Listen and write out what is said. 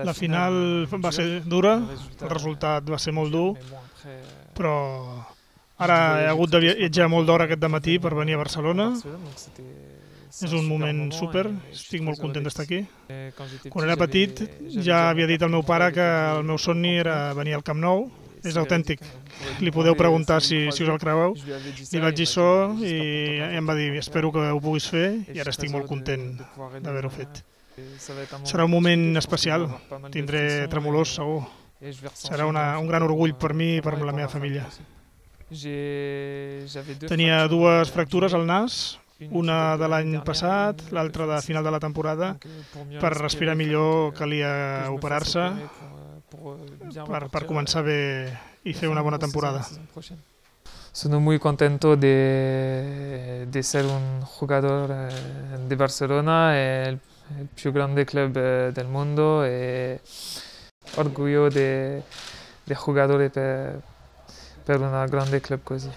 La final va ser dura, el resultat va ser molt dur, però ara he hagut de viatjar molt d'hora aquest dematí per venir a Barcelona. És un moment súper, estic molt content d'estar aquí. Quan era petit ja havia dit al meu pare que el meu somni era venir al Camp Nou. És autèntic, li podeu preguntar si us el creueu. Li vaig dir això i em va dir espero que ho puguis fer i ara estic molt content d'haver-ho fet. Serà un moment especial, tindré tremolors segur. Serà un gran orgull per mi i per la meva família. Tenia dues fractures al nas, una de l'any passat, l'altra de final de la temporada. Per respirar millor calia operar-se per començar bé i fer una bona temporada. Sono muy contento de ser un jugador de Barcelona, el più grande club del mondo, e orgoglio de giocare per un grande club così.